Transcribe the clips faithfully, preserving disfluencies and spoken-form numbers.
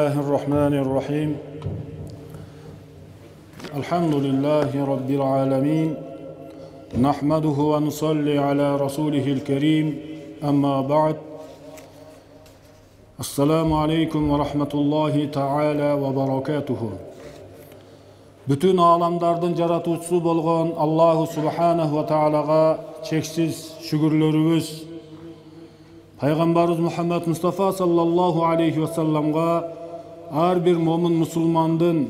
الله الرحمن الرحيم الحمد لله رب العالمين نحمده ونصلي على رسوله الكريم أما بعد السلام عليكم ورحمة الله تعالى وبركاته. Bütün alamdardın jaratуучусу болгон Аллаху Субханаху ва Таалага чексиз шүгүрлөрүбүз, Пайгамбарыбыз Мухаммад Мустафа саллаллаху алейхи ва салламга ар бир момун мусулмандын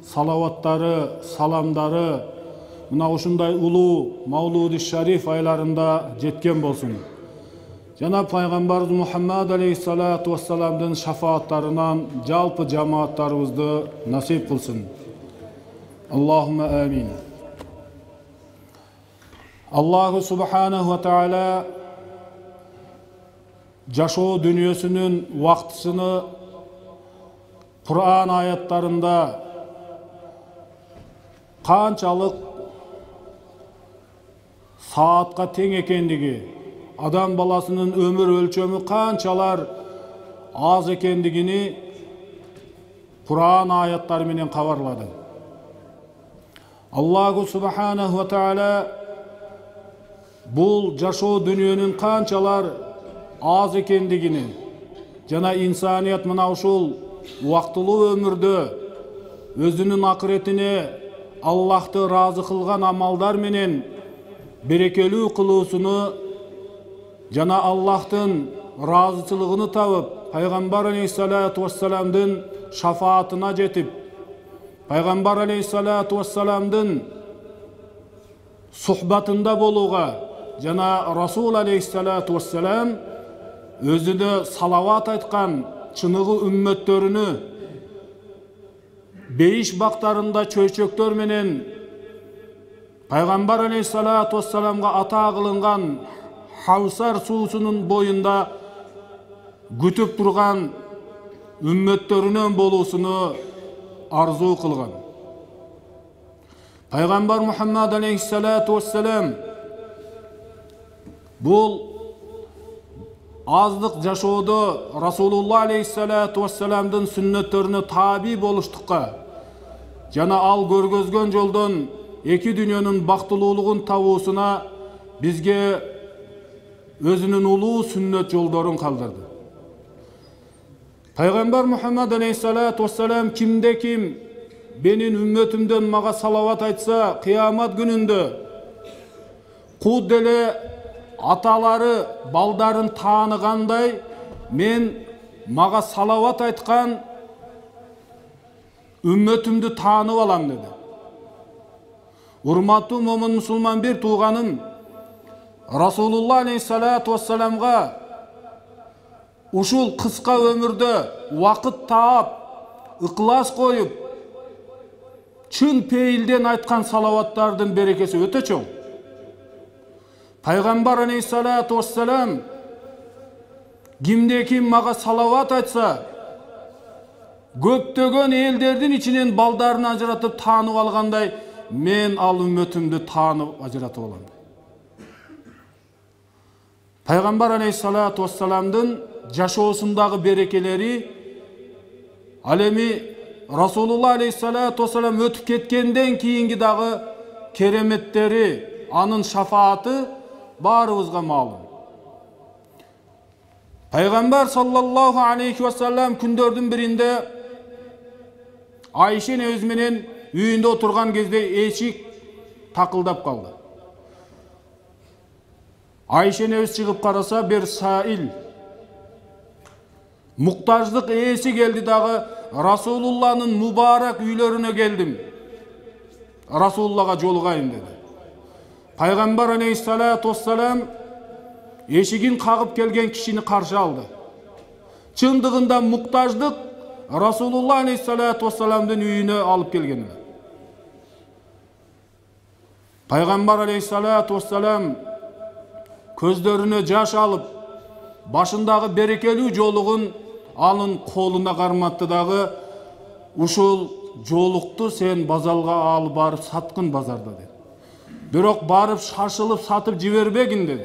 салаваттары, саламдары мына ушундай улуу Мавлуди Шариф айларында жеткен болсун. Жана Пайгамбарыбыз Мухаммад алейхиссалату вассаламдын шафааттарынан жалпы жамааттарыбызды насип кылсын. Аллахумма амин. Аллаху Субханаху ва Таала жашоо дүнүйөсүнүн убактысыны Кур'ан аяттарында канчалык саатка тең экендиги, адам баласынын өмүр өлчөмү канчалар аз экендигини Кур'ан аяттары менен кабарлады. Аллаху Субханаху ва Таала бул жашоо дүнүйөнүн канчалар аз экендигини жана инсаният мына ушул убактылуу өмүрдө өзүнүн акыретине Аллахты ыраазы кылган амалдар менен берекелүү кылуусуну жана Аллахтын ыраазычылыгын табып, Пайгамбар алейхиссалату вассаламдын шафаатына жетип, Пайгамбар алейхиссалату вассаламдын сухбатында болууга жана Расул алейхиссалату вассалам өзүнө салават айткан чыныгы үммөттөрүнү бейиш бактарында чөйчөктөр менен Пайгамбар алейхиссалату вассаламга ата кылынган Хавсар суусунун боюнда күтүп турган үммөттөрүнөн болуусуну арзуу кылган. Пайгамбар Мухаммад алейхиссалату вассалам бул аздык жашоодо Расулулла алейхиссалату вассаламдын сүннөттөрүнө таби болуштукка жана ал көргөзгөн жолдон эки дүйнөнүн бактылуулугун табуусуна бизге өзүнүн улуу сүннөт жолдорун калдырды. Пайгамбар Мухаммад алейхиссалату вассалам кимде ким менин үммөтүмдөн мага салават айтса, кыямат күнүндө куд деле аталары балдарын тааныгандай мен мага салават айткан үммөтүмдү таанып алам деди. Урматтуу момун мусулман бир тууганым Расулулла алейхиссалату вассаламга ушул кыска өмүрдө убакыт таап, ыклас коюп, чын пейилден айткан салаваттардын берекеси өтө чоң. Пайгамбар алейхиссалату вассалам кимде ким мага салават айтса, көптөгөн элдердин ичинен балдарын ажыратып таанып алгандай, мен ал үммөтүмдү таанып ажыратып алам. Пайгамбар алейхиссалату вассаламдын жашоосундагы берекелери ал эми Расулулла алейхиссалату вассалам өтүп кеткенден кийинки дагы кереметтери, анын шафааты баарыбызга маалым. Пайгамбар саллаллаху алейхи ва саллам күндөрдүн биринде Айша энебиз менен үйүндө отурган кезде эшик такылдап калды. Айша энебиз чыгып караса, бир саил муктаждык ээси келди дагы, Расулулланын мубарак үйлөрүнө келдим, Расулуллага жолугайын деди. Пайгамбар алейхиссалату вассалам эшигин кагып келген кишини каршы алды. Чындыгында муктаждык Расулулла алейхиссалату вассаламдын үйүнө алып келген. Пайгамбар алейхиссалату вассалам көздөрүнө жаш алып, башындагы берекелүү жолугун анын колуна карматты дагы, ушул жолукту сен базарга алып барып саткын базарда деди. Бирок барып шашылып сатып жибербегин деди.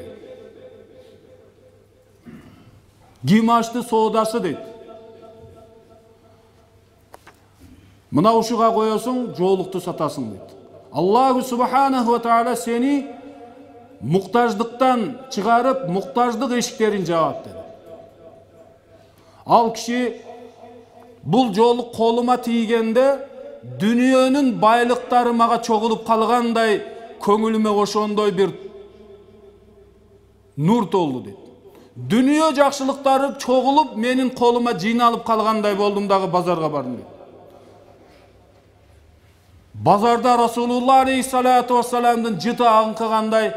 Ким ашты соодасы дейт. Мына ушуга коесуң, жоолукту сатасың дейт. Аллаху субханаху ва таала сени муктаждыктан чыгарып, муктаждык эшиктерин жаап dedi. Ал киши бул жоолук колума тийгенде дүниөнүн байлыктары мага чогулуп калгандай, көңүлүмө ошондой бир нур толду дейт. Дүнүйө жакшылыктары чогулуп менин колума жыйналып калгандай болдум дагы базарга бардым дейт. Базарда Расулулла алейхиссалату вассаламдын жыты аңкыгандай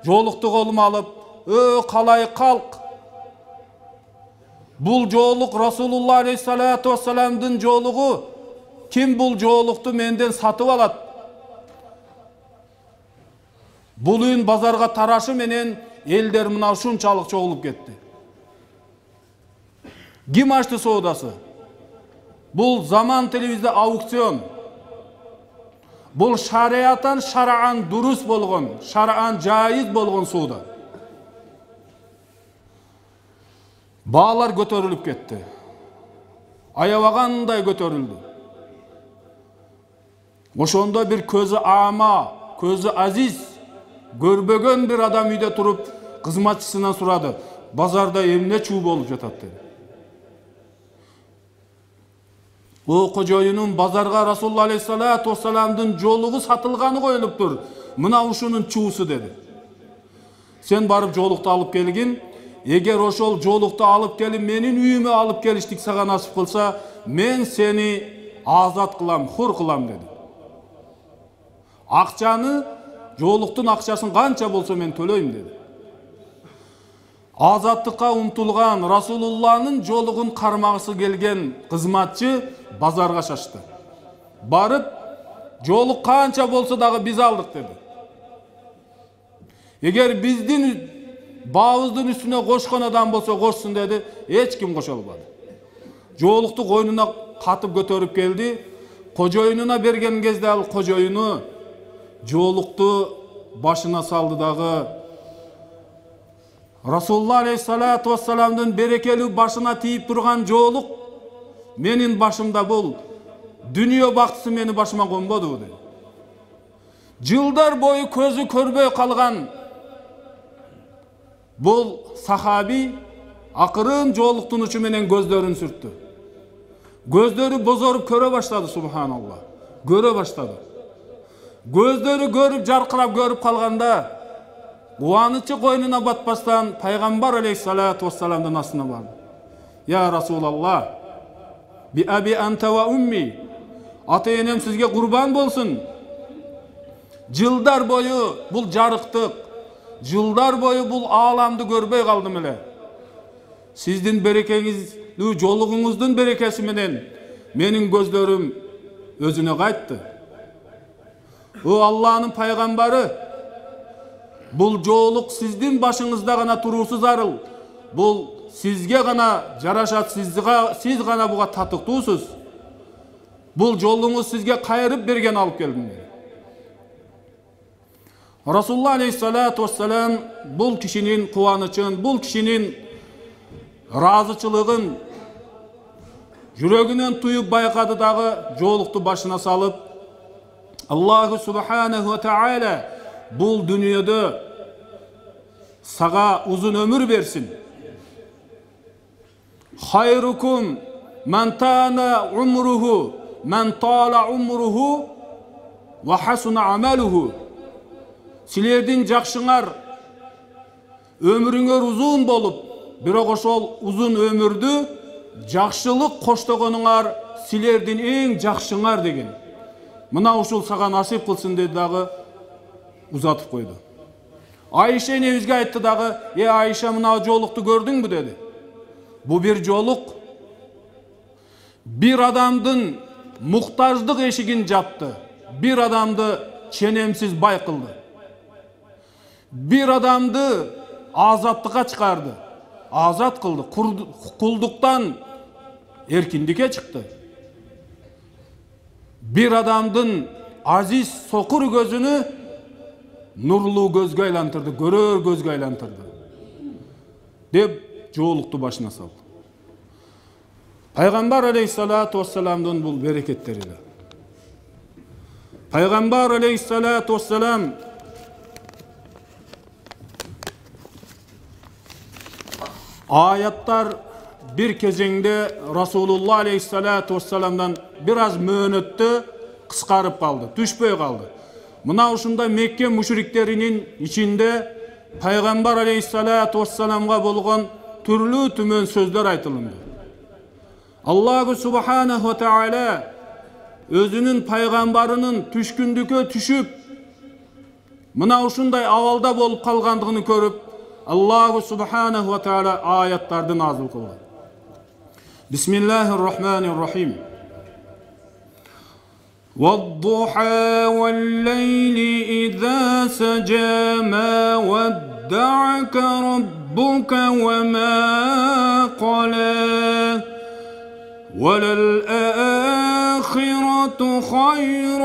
жоолукту колума алып, "Ө калай калк. Бул жоолук Расулулла алейхиссалату вассаламдын жоолугу. Ким бул жоолукту менден сатып алат? Бул үн базарга тарашы менен элдер мына ушунчалык чогулуп кетти. Ким ачты соодасы? Бул заман телевизде аукцион. Бул шариятан шараан дурус болгон, шараан жайыз болгон соода. Баалар көтөрүлүп кетти. Аябагандай көтөрүлдү. Ошондо бир көзү ама, көзү азиз, көрбөгөн бир адам үйдө туруп, кызматчысынан сурады: "Базарда эмне чуу болуп жатат?" dedi. "О кожоюнум, базарга Расулулла алейхиссалату вассаламдын жоолугу сатылганы коюлуптур. Мына ушунун чуусу" dedi. "Сен барып жоолукту алып келгин. Эгер ошол жоолукту алып келип менин үйүмө алып келиштик сага насып кылса, мен сени азат кылам, хур кылам" dedi. "Акчаны, жоолуктун акчасын канча болсо мен төлөйм" dedi. Азаттыкка умтулган, Расулулланын жоолугун кармагысы келген кызматчы базарга шашты. Барып, "Жоолук канча болсо дагы биз алдык" dedi. "Эгер биздин баабыздын үстүнө кошкон адам болсо кошсун" dedi. Эч ким кошо албады. Жоолукту койнуна катып көтөрүп келди. Кожоюнуна берген кезде ал кожоюну жоолукту башына салды дагы Расулулла алейхиссалату вассаламдын берекелүү башына тийип турган жоолук менин башымда бул. Дүнүйө бактысы мени башыма конбоду dedi. Жылдар бою көзү көрбөй калган бул сахаби акырын жоолуктун учу менен көздөрүн сүрттү. Көздөрү бозоруп көрө баштады, субханалла. Көрө баштады. Көздөрү көрүп, жаркырап көрүп калганда, кубанычы койнуна батпастан пайгамбар алейхиссалату вассаламдын астына барды. "Я Расулалла, би аби анта ва умми, ата-энем сизге курбан болсун. Жылдар бою бул жарыктык, жылдар бою бул ааламды көрбөй калдым эле. Сиздин берекеңиздүү жоолугуңуздун берекеси менен менин көздөрүм өзүнө кайтты. О Алланын пайгамбары, бул жоолук сиздин башыңызда гана туруусу зарыл. Бул сизге гана жарашат, сизге, сиз гана буга татыктуусуз. Бул жолуңуз сизге кайрып берген алып келдим" dedi. Расулулла алейхиссалату вассалам бул кишинин кубанычын, бул кишинин ыраазычылыгын жүрөгүнөн туюп байкады дагы жоолукту башына салып, "Аллаху субханаху ва таала бул дүнүйөдө сага узун өмүр берсин. Хайрукум ман тана умруху, ман тала умруху ва хасуна амалуху." Силердин жакшыңар өмүрүңөр узун болуп, бирок ошол узун өмүрдү жакшылык коштогонуңар силердин эң жакшыңар деген. Мына ушул сага насип кылсын dedi дагы узатып койду. Айша энебизге айтты дагы: "Э Айша, мына жоолукту көрдүңбү?" dedi. Бу бир жоолук бир адамдын муктаждык эшигин жапты. Бир адамды ченемсиз бай кылды. Бир адамды азаттыкка чыгарды. Азат кылды. Кулдуктан эркиндикке чыкты. Бир адамдын азиз сокур көзүнү нурлуу көзгө айлантырды, көрөр көзгө айлантырды. Деп жоолукту башына салды. Пайgambar aleyhissalatu vesselam'dın bul bereketleri de. Пайgambar aleyhissalatu vesselam ayatlar bir kezеңде Rasulullah aleyhissalatu vesselam'dan biraz möhnöttü kıskarıp kaldı, düşpöy kaldı. Mına uşunda Mekke müşriklerinin içinde Пайgambar aleyhissalatu vesselam'a bolğan türlü tümön sözler aytılındı. Allah subhanahu wa ta'ala özünün paygambarının düşkündükö düşüp mına uşunday avalda bolup kalgandığını görüp Allah subhanahu wa ta'ala ayatlardan nazil kıldı. Bismillahirrahmanirrahim. وَالضُّحَى وَاللَّيْلِ إِذَا سَجَى مَا وَدَّعَكَ رَبُّكَ وَمَا قَلَى وَلَلْآخِرَةُ خَيْرٌ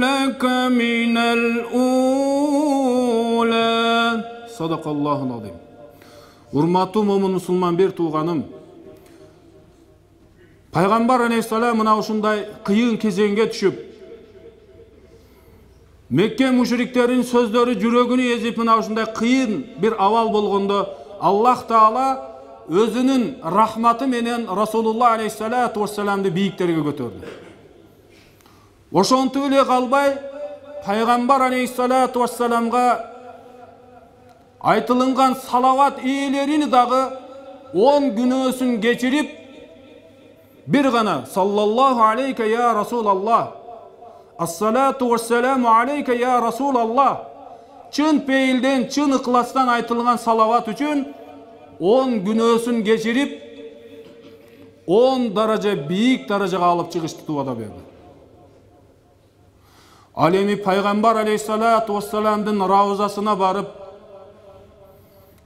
لَكَ مِنَ الْأُولَى. Sadaqallahul azim. Urmatlı momun musulman bir tuğanım. Пайgambar aleyhissalam mına uşunday kıyın kezenge düşüp Mekke müşriklerin sözleri jürögünü ezip mına uşunday kıyın bir aval bolgondo Allah Taala özünün rahmatı menen Rasulullah aleyhissalatu vesselam'dı biyiklerge götürdü. Oşontu ile kalbay Пайgambar aleyhissalatu vesselam'a aytılıngan salavat iyilerini dağı on günösün geçirip bir gana sallallahu aleyke ya Resulallah, as-salatu vesselamu aleyke ya Resulallah, çın peyilden, çın ıklastan aytılgan salavat üçün on günösün geçirip on daraja biyik darajaga alıp çıkıştı tuvada berdi. Alemi Пайgambar aleyhissalatu vesselam'dın ravzasına barıp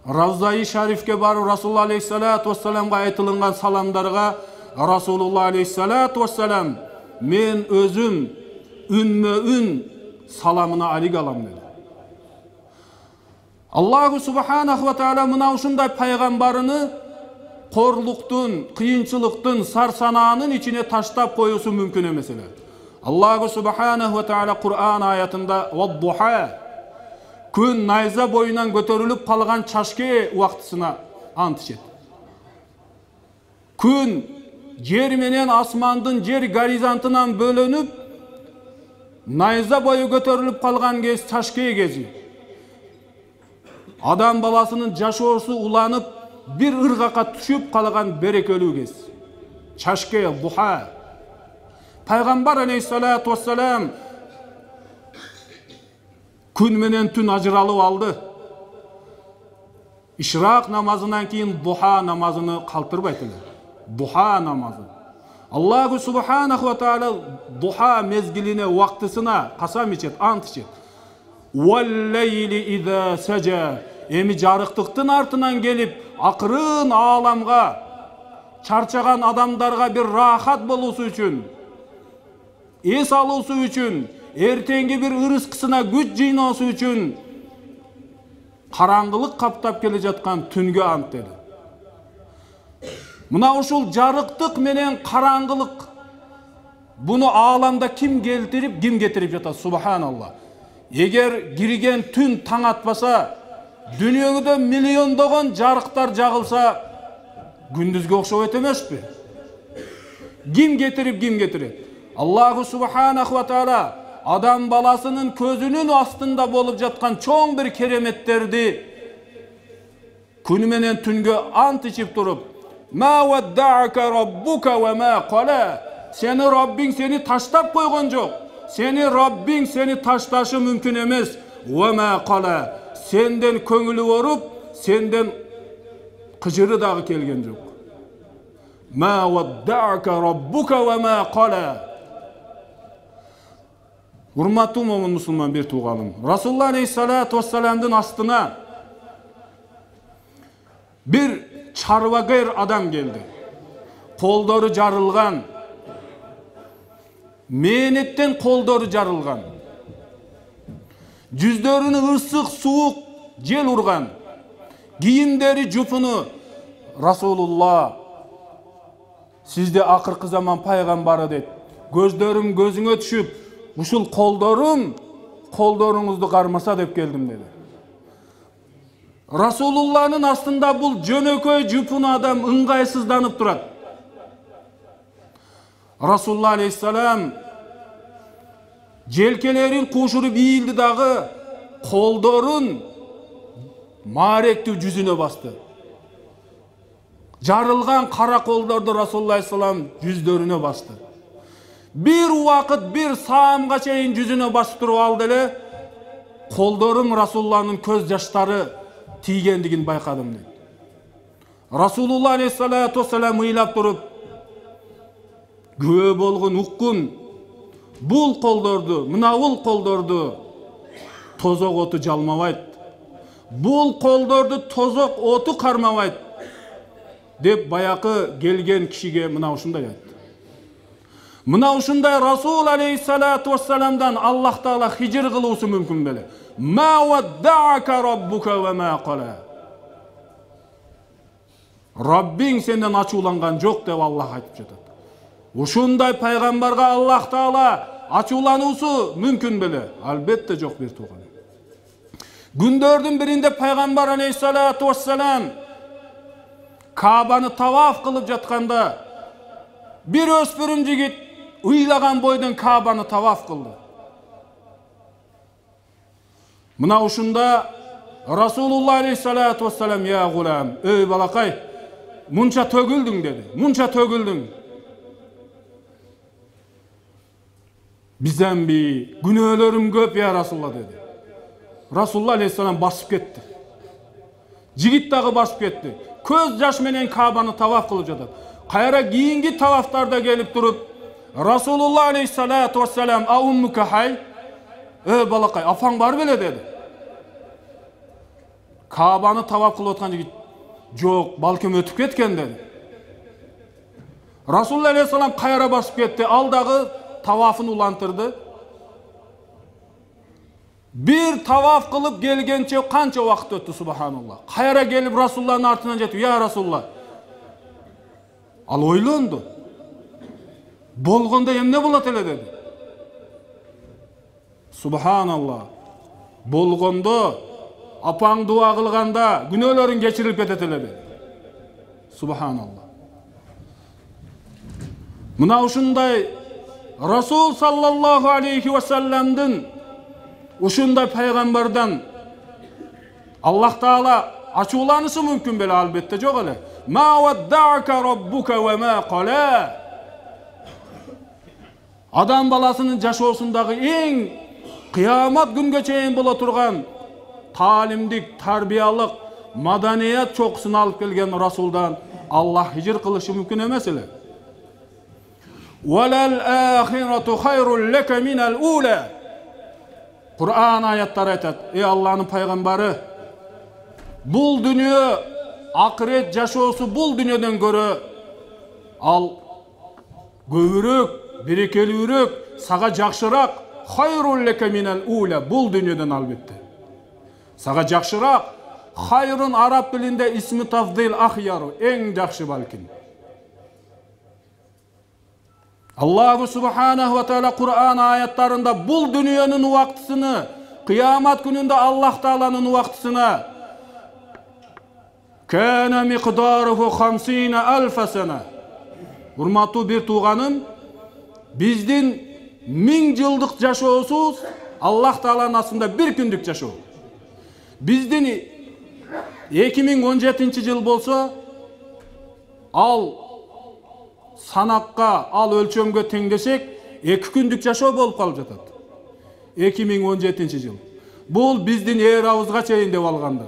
Ravza-i Şarif'ke barıp Rasulullah aleyhissalatu vesselam'a aytılıngan salamlarga Rasulullah aleyhissalatu vesselam men özüm ünmö ün salamına alik alam dedi. Allah subhanahu wa ta'ala mına uşunday paygambarını korluktun, kıyınçılıktın, sarsanağının içine taştap koyusu mümkün emesele. Allah subhanahu wa ta'ala Kur'an ayatında وَالضُّحَى gün nayza boyundan götörülüp kalgan çaşke vaktısına ant içet. Gün yer menen asmandın yer gorizantından bölünüp nayza boyu götörülüp kalgan kez çaşke gezi. Adam balasının jaşoosu ulanıp bir ırgaka düşüp kalgan berekölүү kez. Çaşke, duha. Пайgambar aleyhissalatu vesselam gün menen tün ajıralıp aldı. İşrak namazından keyin duha namazını kaltırbaytılar. Duha namazı. Allah subhanahu wa ta'ala duha mezgiline vaktısına kasam içet, ant içet. وَاللَّيْلِ اِذَا سَجَى Emi jarıktıktın artından gelip akırın ağlamga, çarçagan adamlarga bir rahat bolusu üçün, es alısı üçün, ertengi bir ırıskısına güç jıynosu üçün karangılık kaptap kele jatkan tüngö ant dedi. Mına uşul jarıktık menen karangılık bunu ağlamda kim keltirip kim getirip jatат? Subhanallah. Eger girgen tün taң atpasa, dünyöңүдө миллиондогон жарыктар жагылса, gündüzgө окшоп өтөмөспү? Kim getirip kim getiret? Allah subhanahu wa ta'ala adam balasının közünün astında bolup jatkan çoğ bir keremetтерди күнү менен түнгө ант ичип туруп Ma wadda'aka rabbuka wa ma qala. Seni Rabbin seni taştap koygon jok. Seni Rabbin seni taştaşı mümkün emes. Wa ma qala. Senden köngülü orup, senden kıcırı dağı kelgen jok. Ma wadda'aka rabbuka wa ma qala. Hurmatlı momun musulman bir tuğalım. Rasulullah aleyhissalatu vesselam'dın astına bir çarvagayr adam geldi. Kolları jarılgan. Mehnetten kolları jarılgan. Yüzlerini ısık, soğuk jel urgan. Giyimleri jupunu Rasulullah Сизде акыркы заман пайгамбары дейт. Көздөрүм көзүңө түшүп, ушул колдорум колдоруңузду кармаса деп келдим dedi. Расулулланын астында бул жөнөкөй жупун адам ыңгайсызданып турат. Расулулла алейхиссалам желкелерин кушуруп ийилди дагы колдорун мааректүү жүзүнө басты. Жарылган кара колдорду Расулулла алейхиссалам жүздөрүнө басты. Бир убакыт бир саамга чейин жүзүнө басып туруп алды эле, колдорум Расулулланын көз жаштары тийгендигин байкадым дейт. Расулулла алейхиссалату вассалам ыйлап туруп, күбө болгон уккун, бул колдорду, мына бул колдорду тозок оту жалмабайт. Бул колдорду тозок оту кармабайт деп баякы келген кишиге мына ушундай айтты. Мына ушундай Расул алейхиссалату вассаламдан Аллах таала хижир кылуусу мүмкүн беле. Ма ваддака раббука ва ма кала. Раббиң сенден ачууланган жок деп Аллах айтып жатат. Ушундай пайгамбарга Аллах таала ачуулануусу мүмкүн беле? Албетте жок бир тууган. Күндөрдүн биринде пайгамбар алейхиссалату вассалам Кабаны таваф кылып жатканда бир өспүрүм жигит ыйлаган бойдон Кабаны таваф кылды. Мына ушунда Расулулла алейхиссалату вассалам: "Я гулам, эй балакай, мунча төгүлдүң" деди. Мунча төгүлдүң. Бизден би күнөөлөрүм көп я Расулулла деди. Расулулла алейхиссалам басып кетти. Жигит дагы басып кетти. Көз жаш менен Кабаны таваф кылып жатат. Кайра кийинки тавафтарда келип туруп, Расулулла алейхиссалату вассалам: "А уммука хай?" "Э балакай, афаң бар беле?" деди. Кабаны таваф кылып аткан жигит: "Жок, балким өтүп кеткен" деди. Расулулла алейхиссалам кайра басып кетти. Ал дагы тавафын улантырды. Bir tavaf kılıp gelgençe kança vakit öttü subhanallah. Kayra gelip Rasulullah'ın артынан жетip: "Ya Rasulullah." Al ойлонду. Болгондо эмне болот эле dedi. Subhanallah. Болгондо апаң дуа кылганда күнөөлөрүң кечирилип кетет эле dedi. Subhanallah. Мына ушундай Расул саллаллаху алейхи ва салламдын ушундай пайгамбардан Аллах таала ачууланышы мүмкүн беле? Албетте жок эле. Ма ваддака раббука ва ма кала. Адам баласынын жашоосундагы эң кыямат күнгө чейин боло турган таалимдик, тарбиялык, маданият чокусун алып келген Расулдан Аллах хижир кылышы мүмкүн эмес эле. Валал ахирату хайрул лака минал ула. Kur'an ayetleri aytat: "Ey Allah'ın peygamberı, bul dünya, ahiret жашоосу bul dünyadan görө al көбүрөөк, берекелүүрөөк, сага жакшыраак, хайрул лака минал ула, bul dünyadan албетте. Сага жакшыраак, хайрын араб тилинде исми тафдил ахяру, эң жакшы балким. Allahu subhanahu wa ta'ala Kur'an ayetlerinde bul dünyanın vaktısını, kıyamet gününde Allah Teala'nın vaktısına kana miqdaruhu hamsine alf sene. Hurmatlı bir tuğanım, bizdin ming yıldık жашоосуз Allah Teala'nın aslında bir gündük жашоо. Bizdin эки миң он жетинчи yıl bolsa al санакка, ал өлчөмгө теңдесек эки күндүк жашоо болуп калып жатат. эки миң он жетинчи жыл. Бул биздин эр абызга чейин деп алганда.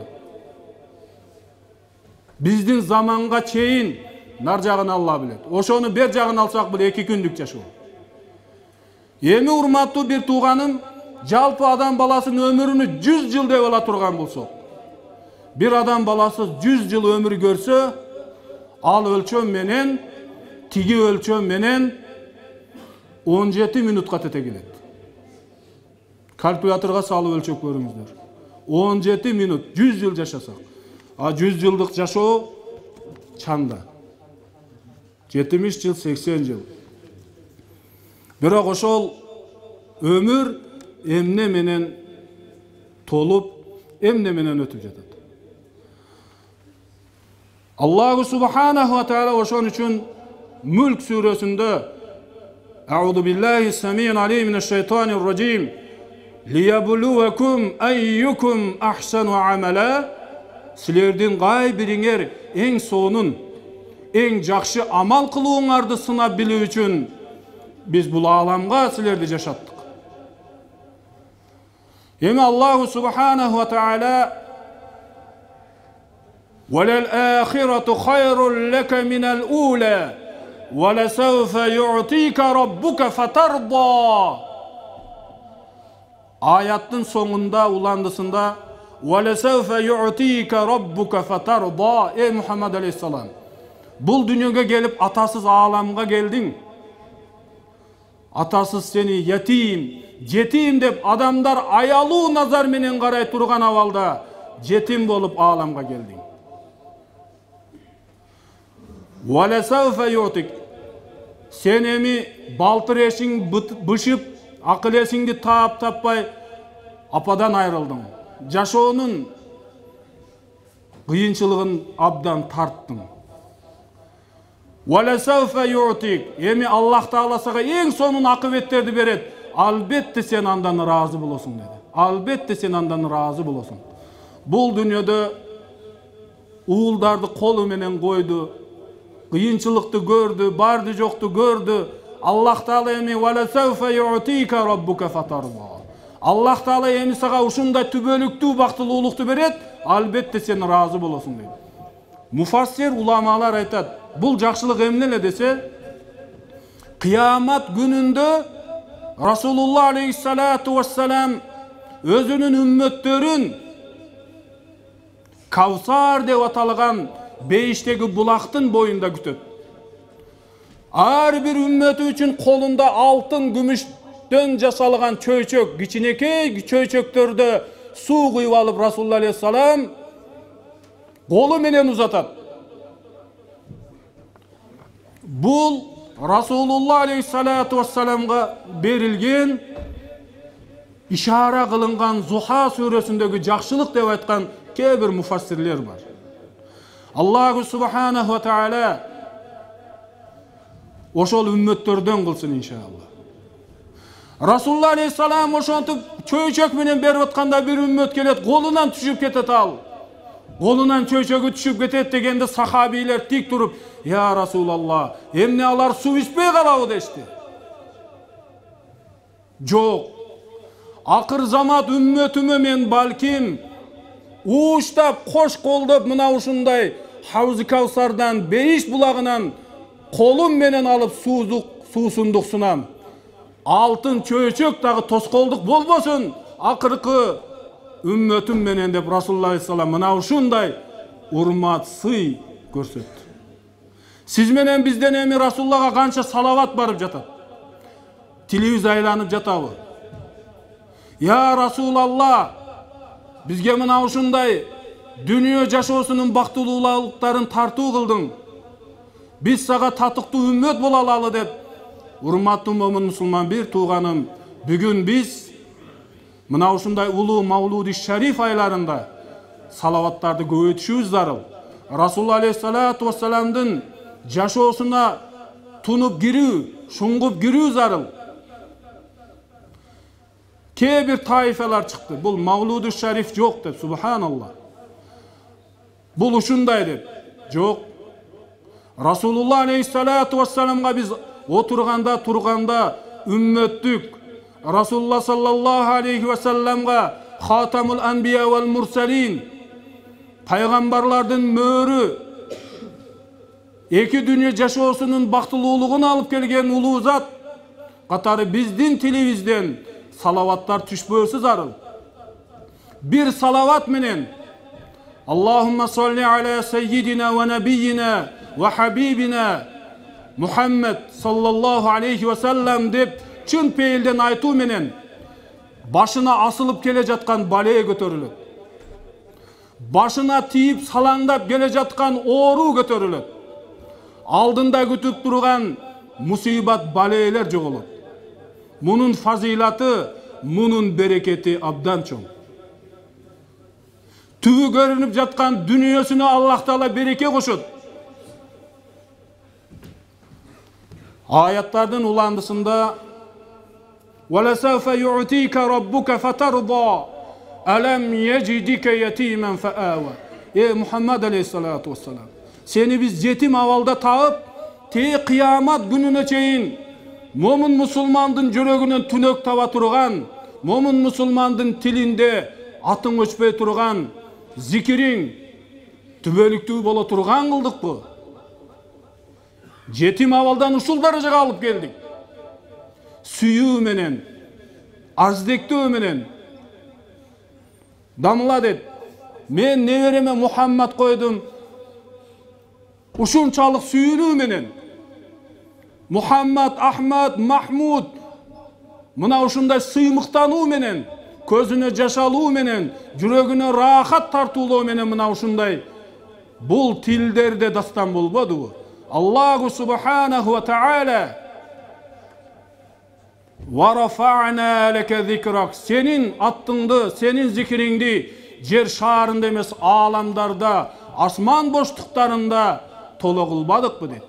Биздин заманга чейин нар жагын Алла билет. Ошону бер жагын алсак бул эки күндүк жашоо. Эми урматтуу бир тууганым, жалпы адам баласынын өмүрүнү жүз жыл деп ала турган болсок, бир адам баласы жүз жыл өмүр көрсө, ал өлчөм менен тиги өлчөм менен он жети минутка тете келет. Калькуляторга салып өлчөп көрүңүздөр. он жети минут жүз жыл жашасак. А жүз жылдык жашоо чанда. жетимиш жыл, сексен жыл. Бирок ошол өмүр эмне менен толуп, эмне менен өтүп жатат. Аллаху субханаху ва таала ошон үчүн Мүлк сүрөсүндө Аузу биллахи самиил алим минеш шайтанир раджим лиябулувакум айюкум ахсану амала, силердин кай бириңер эң сонун, эң жакшы амал кылууңарды сынап билүү үчүн биз бул ааламга силерди жашаттык. Эми Аллаху субханаху ва таала وَلَلْآخِرَةُ خَيْرٌ لَكَ مِنَ الْأُولَى وَلَسَوْفَ يُعْطِيكَ رَبُّكَ فَتَرْضَى. Аяттын соңунда, уландысында وَلَسَوْفَ يُعْطِيكَ رَبُّكَ فَتَرْضَى. Ey Muhammed aleyhissalam, бул дүнөгө келип атасыз ааламга келдиң. Атасыз сени ятим, жетим деп адамдар аялуу назар менен карай турган абалда жетим болуп ааламга келдиң. Валасауфа ютик. Сен эми балтыр эшиң бышып, акыл эсиңди таап таппай ападан айрылдың. Жашоонун кыйынчылыгын абдан тарттың. Валасауфа ютик. Эми Аллах Таала сага эң сонун акыбеттерди берет. Албетте сен андан ыраазы болосуң деди. Албетте сен андан ыраазы болосуң. Бул дүйнөдө уулдарды колу менен койду. Кыйынчылыкты көрдү, барды жокту көрдү. Аллах Таала эми валасауфа ю'тика раббука фатарда. Аллах Таала эми сага ушундай түбөлүктүү бактылуулукту берет, албетте сен ыраазы болосуң дейт. Муфассир уламалар айтат, бул жакшылык эмне эле десе, кыямат күнүндө Расулуллах алейхиссалату вассалам өзүнүн үммөттөрүн Кавсар деп аталган бейиштеги булактын боюнда күтөт. Ар бир үммөтү үчүн колунда алтын, күмүштөн жасалган чөйчөк, кичинекей чөйчөктөрдө суу куюп алып Расулуллах алейхиссалам колу менен узатат. Бул Расулуллах алейхиссалату вассаламга берилген ишара кылынган Зуха сүрөсүндөгү жакшылык деп айткан кээ бир муфассирлер бар. Аллаху субханаху ва таала ошол үммөттөрдөн кылсын иншалла. Расулуллах алейхиссалам ошонтип чөйчөк менен берип атканда бир үммөт келет, колунан түшүп кетет ал. Колунан чөйчөгү түшүп кетет дегенде сахабийлер тик туруп, "Я Расулаллах, эмне алар суу ичпей калабы?" дешти. Жок. Акыр замат үммөтүмө мен балким ууштап, кош колдоп мына ушундай Хауз-ы Кавсардан, бейиш булагынан колум менен алып суузук, суусундук сунам. Алтын чөйчөк дагы тоскоолдук болбосун. Акыркы үммөтүм менен деп Расулуллах алейхиссалам мына ушундай урмат, сый көрсөттү. Сиз менен бизден эми Расулуллахга канча салават барып жатат? Тилибиз айланып жатабы? Я Расулаллах, бизге мына ушундай дүнүйө жашоосунун бактылуулуктарын тартуу кылдың. Биз сага татыктуу үммөт боло алалы деп, урматтуу момун мусулман бир тууганым, бүгүн биз мына ушундай улуу Мавлуди Шариф айларында салаваттарды көбөйтүшүбүз зарыл. Расулуллах алейхиссалату вассаламдын жашоосуна тунуп кирүү, шуңгуп кирүү зарыл. Кээ бир таифалар чыкты. Бул Мавлуди Шариф жок деп, субханаллах. Бул ушундай деп. Жок. Расулуллах алейхиссалату вассаламга биз отурганда, турганда үммөттүк Расулуллах саллаллаху алейхи ва салламга Хатамул анбия вал мурсалин, пайгамбарлардын мөөрү, эки дүнүйө жашоосунун бактылуулугун алып келген улуу зат катары биздин тилибизден салаваттар түшпөсү зарыл. Бир салават менен Аллахумма салли аля саййидина ва набийина ва хабибина Мухаммад саллаллаху алейхи ва саллам деп чын пейилден айтуу менен башына асылып келе жаткан бале көтөрүлөт. Башына тийип салаңдап келе жаткан оору көтөрүлөт. алдында күтүп турган мусибат балейлер жоголот. Мунун фазилаты, мунун берекети абдан чоң. Түбү көрүнүп жаткан дүнүйөсүнө Аллах Таала береке кошот. Аяттардын уландысында وَلَسَوْفَ يُعْتِيكَ رَبُّكَ فَتَرْضَى أَلَمْ يَجِدِكَ يَتِيمًا فَآوَى. Ey Muhammed aleyhissalatu vesselam, seni biz жетим авалда таап, те кыямат күнүнө чейин момун мусулмандын жүрөгүнөн түнөк таба турган, момун мусулмандын тилинде атың өчпөй турган, зикириң түбөлүктүү боло турган кылдыкпы? Жетим авалдан ушул даражага алып келдик. Сүйүү менен, арздектөө менен. Дамыла дет, мен небереме Мухаммад койдум, ушунчалык сүйүүнүү менен. Мухаммад, Ахмад, Махмуд, мына ушундай сыймыктануу менен, көзүнө жаш алуу менен, жүрөгүнө рахат тартуулоо менен мына ушундай бул тилдерде дастан болбодубу? Аллаху субханаху ва таала وَرَفَعْنَا لَكَ ذِكْرَكَ Senin attыңды, senin zikiringdi жер шаарында эмес, ааламдарда, асман боштуктарында толо кылбадыкпы дейт.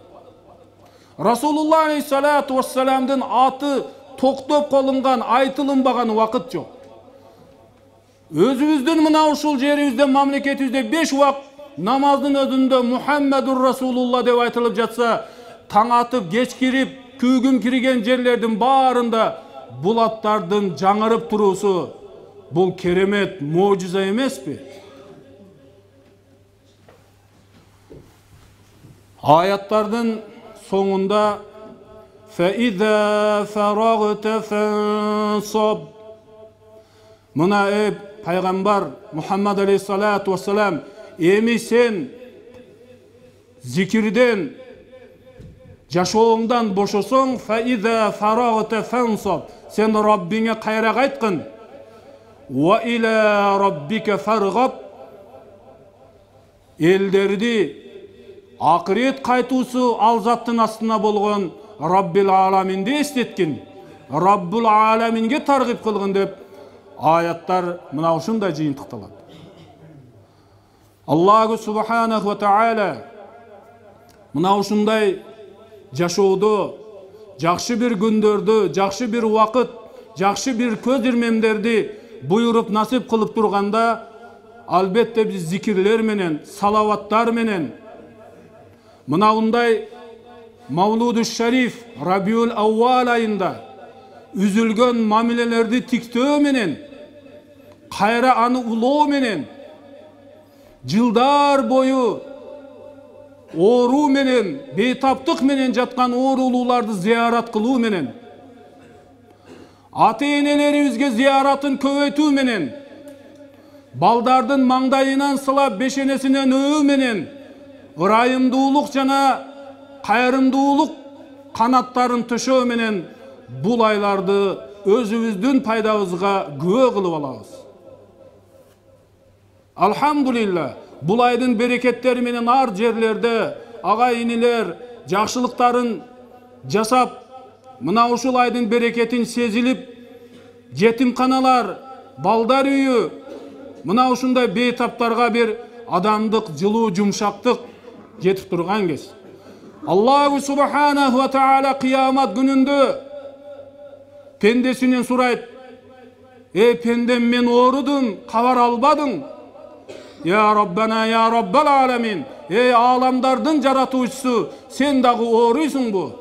Расулуллах алейхиссалату вассаламдын аты токтоп колунган, айтылынбаган убакыт жок. Өзүбүздүн мына ушул жерибизде, мамлекетибизде беш убак намаздын өзүндө Мухаммадур Расулулла деп айтылып жатса, таң атып, кеч кирип, күйгүм кирген жерлердин баарында булаттардын жаңырып туруусу бул керемет можиза эмеспи? Аяттардын соңунда فَإِذَا فَرَغْتَ فَانْصَبْ Мына э пайгамбар Мухаммад алейхиссалату вассалам, эми сен зикирден, жашооңдан бошосоң, فَإِذَا فَرَغْتَ فَانْصَبْ Сен Раббиңе кайра кайткын. وَإِلَى رَبِّكَ فَارْغَبْ Элдерди акырет кайтуусу ал заттын астына болгон Раббил аламинди эстеткин, Раббул аламинге таргып кылгын деп аяттар мына ушундай жыйынтыкталат. Аллаху субханаху ва таала мына ушундай жашоодо, жакшы бир күндөрдү, жакшы бир убакыт, жакшы бир көз ирмемдерди буйруп насип кылып турганда, албетте биз зикирлер менен, салаваттар менен, мына ундай Мавлуду Шариф Рабиул Аувал айында үзүлгөн мамилелерди тиктөө менен, кайра аны улоо менен, жылдар бою оору менен, бейтаптык менен жаткан оорулууларды зиярат кылуу менен, ата-энелерибизге зияратын көбөйтүү менен, балдардын маңдайынан сылап бешенесинен өбүү менен, ырайымдуулук жана кайрымдуулук канаттарын төшөө менен бул айларды өзүбүздүн пайдабызга күбө кылып алабыз. Алхамдулилла, бул айдын берекеттери менен ар жерлерде агай-инилер жакшылыктарын жасап, мына ушул айдын берекетин сезилип, жетимканалар, балдар үйү, мына ушундай бейтаптарга бир адамдык жылуу жумшактык жетип турган кез. Аллаху субханаху ва таала кыямат күнүндө пендесинен сурайт: "Эй пендем, мен оорудум, кабар албадың?" "Я Раббана, я Раббал аламин, эй аламдардын жаратуучусу, сен дагы ооруйсуңбу?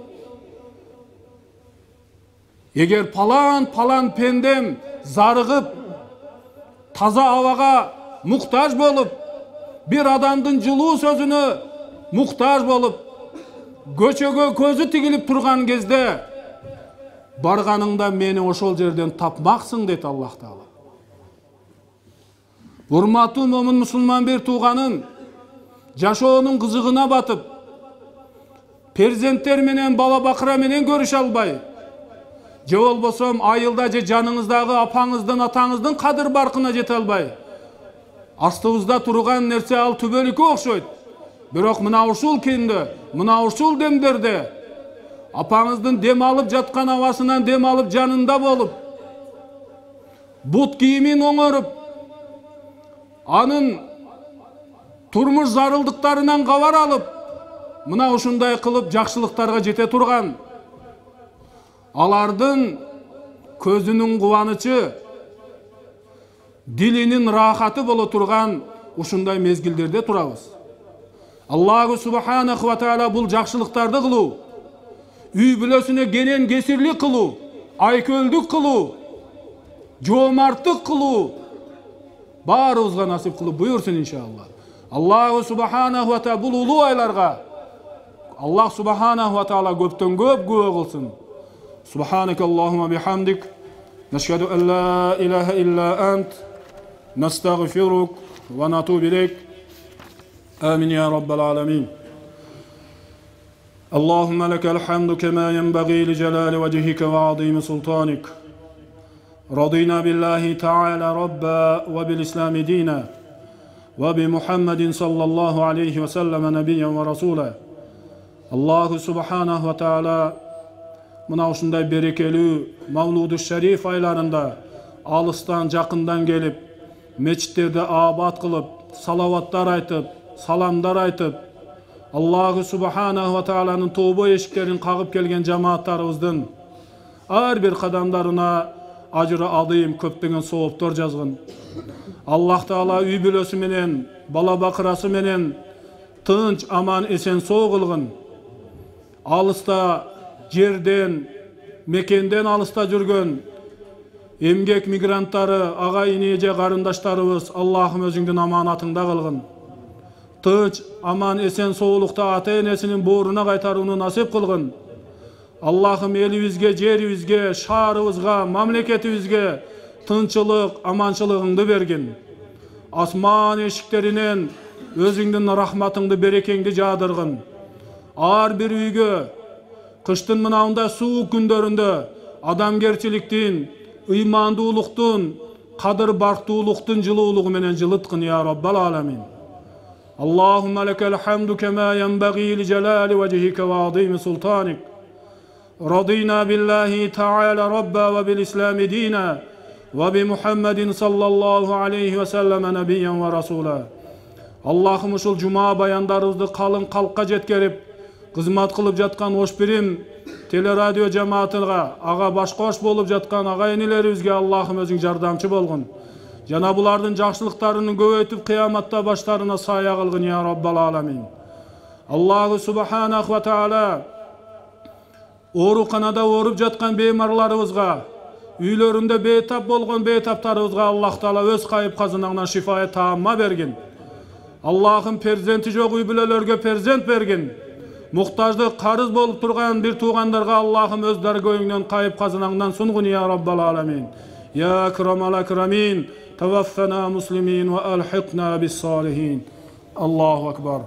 Эгер палан палан пендем зарыгып, таза абага муктаж болуп, бир адамдын жылуу сөзүнө муктаж болуп, көчөгө көзү тигилип турган кезде, барганыңда мени ошол жерден тапмаксың" дейт Аллах Таала. Урматтуу момун мусулман бир тууганым, жашоонун кызыгына батып, перзенттер менен, бала бакыра менен көрүшө албай, же болбосо айылда же жаныңыздагы апаңыздын, атаңыздын кадыр баркына жете албай, астыбызда турган нерсе ал түбөлүккө окшойт. Бирок мына ушул күндө, мына ушул демдерде апаңыздын дем алып жаткан абасынан дем алып жанында болуп, бут кийимин оңоруп, анын турмуш зарылдыктарынан кабар алып, мына ушундай кылып жакшылыктарга жете турган, алардын көзүнүн кубанычы, дилинин рахаты боло турган ушундай мезгилдерде турабыз. Аллаху субханаху ва таала бул жакшылыктарды кылуу, үй бүлөсүнө кенен кесирлик кылуу, айкөлдүк кылуу, жоомарттык кылуу баарыбызга насип кылып буйурсун иншалла. Аллаху субханаху ва таала бул улуу айларга Аллах субханаху ва таала көптөн көп күбө кылсын. Субханакаллахумма бихамдик, нашхаду ан ла илаха илля ант, настагфирук ва натубу илейк. آمين يا رب العالمين. اللهم لك الحمد كما ينبغي لجلال وجهك وعظيم سلطانك. رضينا بالله تعالى ربا وبالإسلام دينا وبمحمد صلى الله عليه وسلم نبيا ورسولا. الله سبحانه وتعالى мына ушундай берекелүү Мавлуду Шариф айларында алыстан жакындан келип, мечиттерди абад кылып, салаваттар айтып, саламдар айтып, Аллаху субханаху ва тааланын тобо эшиктерин кагып келген жамааттарыбыздын ар бир кадамдарына ажыры азым көптөгөн сооптор жазгын. Аллах таала үй бүлөсү менен, бала бакырасы менен тынч, аман, эсен соо кылгын. Алыста жерден, мекенден алыста жүргөн эмгек мигранттары, агай ине же карындаштарыбыз Аллахым өзүңдүн аманатыңда кылгын. Тынч, аман, эсен соолукта ата энесинин бооруна кайтарууну насип кылгын. Аллахым элибизге, жерибизге, шаарыбызга, мамлекетибизге тынчылык, аманчылыгыңды бергин. Асман эшиктеринен өзүңдүн рахматыңды, берекеңди жаадыргын. Ар бир үйгө кыштын мынандай суук күндөрүндө адамгерчиликтин, ыймандуулуктун, кадыр бартуулуктун жылуулугу менен жылыткын я Раббал аламин. اللهم لك الحمد كما ينبغي لجلال وجهك وعظيم سلطانك. رضينا بالله تعالى ربا وبالإسلام دينا وبمحمد صلى الله عليه وسلم نبيا ورسولا. Allah'ım ушул жума баяндарыбызды калың калкка жеткерип, кызмат кылып жаткан ош бирим телерадио жамаатыга, ага башкош болуп жаткан агай энелерибизге Allah'ım өзүң жардамчы болгун. Жана булардын жакшылыктарын көбөйтүп кыяматта баштарына сая кылгын я Раббал аламин. Аллаху субханаху ва таала ооруканада ооруп жаткан беймарларыбызга, үйлөрүндө бейтап болгон бейтаптарыбызга Аллах таала өз кайып казынагынан шифаат таамма бергин. Аллахым перзенти жок үй бүлөлөргө перзент бергин. Муктаждык карыз болуп турган бир туугандарга Аллахым өз даргөйүңдөн кайып казынагынан сунгун я Раббал аламин. يا أكرم الأكرمين توفنا مسلمين وألحقنا بالصالحين. الله أكبر.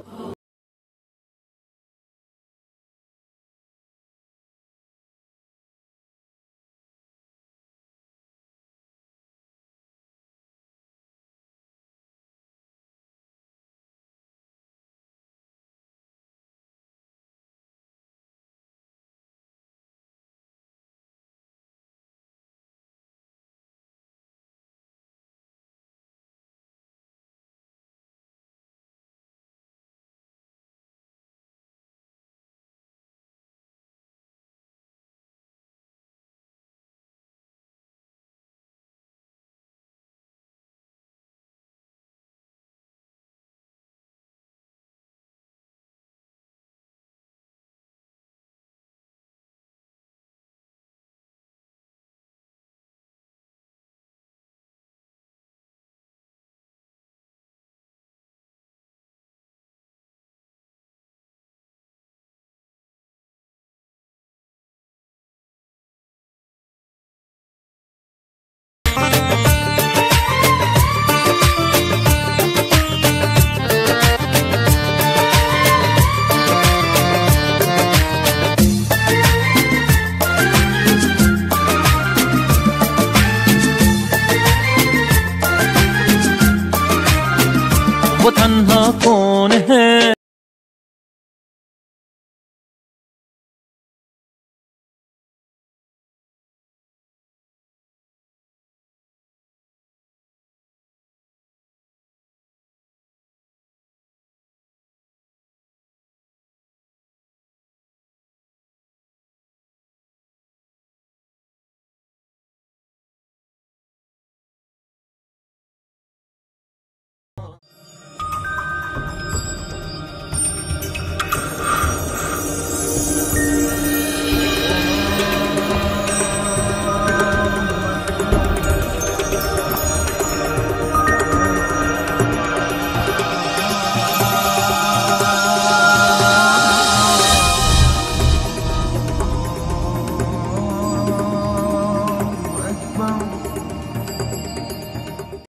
वो तन्हा को